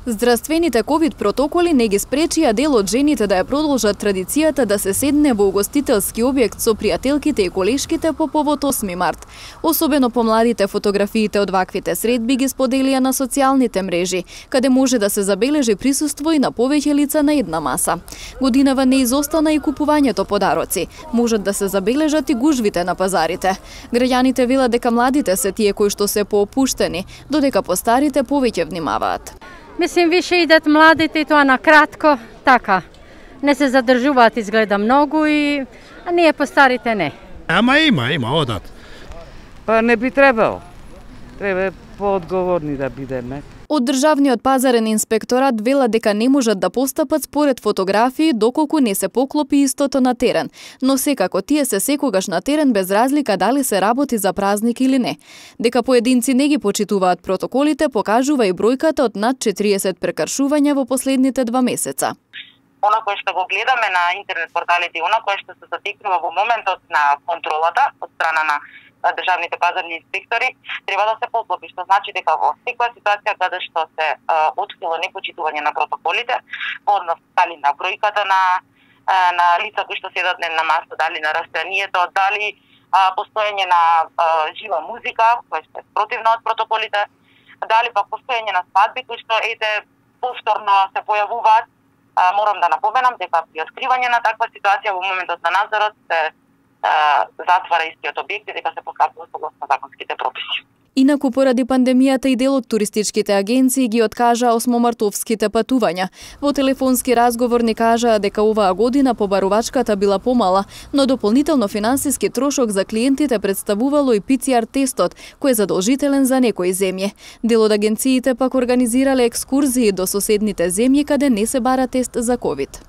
Здравствените ковид протоколи не ги спречија дел од жените да ја продолжат традицијата да се седне во угостителски објект со пријателките и колешките по повод 8 март. Особено помладите фотографиите од ваквите средби ги споделија на социјалните мрежи, каде може да се забележи присуство и на повеќе лица на една маса. Годинава не изостана и купувањето подароци. Можат да се забележат и гужвите на пазарите. Граѓаните велат дека младите се тие кои што се поопуштени, додека постарите повеќе внимаваат. Мислим, више идат младите и тоа на кратко, така. Не се задржуваат изгледа многу а ние постарите не. Ама има одат. Па не би требало. Треба поодговорни да бидеме. Од Државниот пазарен инспекторат велат дека не можат да постапат според фотографии доколку не се поклопи истото на терен, но секако тие се секогаш на терен без разлика дали се работи за празник или не. Дека поединци не ги почитуваат протоколите покажува и бројката од над 40 прекршувања во последните 2 месеца. Она кое што го гледаме на интернет порталите и она кое што се затекнува во моментот на контролата од страна на државните пазарни инспектори, треба да се поклопи, што значи дека во секоја ситуација каде што се открило непочитување на протоколите, по однос дали на бројката на лица кои што седат на маса, дали на растојанието, дали постоење на жива музика, која што е противна од протоколите, дали пак постоење на свадби кои што повторно се појавуваат. Морам да напоменам дека при откривање на таква ситуација во моментот на надзорот се затвара истиот објект и дека се постапува согласно законските прописи. Инаку поради пандемијата и дел од туристичките агенции ги откажа осмомартовските патувања. Во телефонски разговор ни кажаа дека оваа година побарувачката била помала, но дополнително финансиски трошок за клиентите представувало и PCR тестот, кој е задолжителен за некои земји. Дел од агенциите пак организирале екскурзии до соседните земји каде не се бара тест за ковид.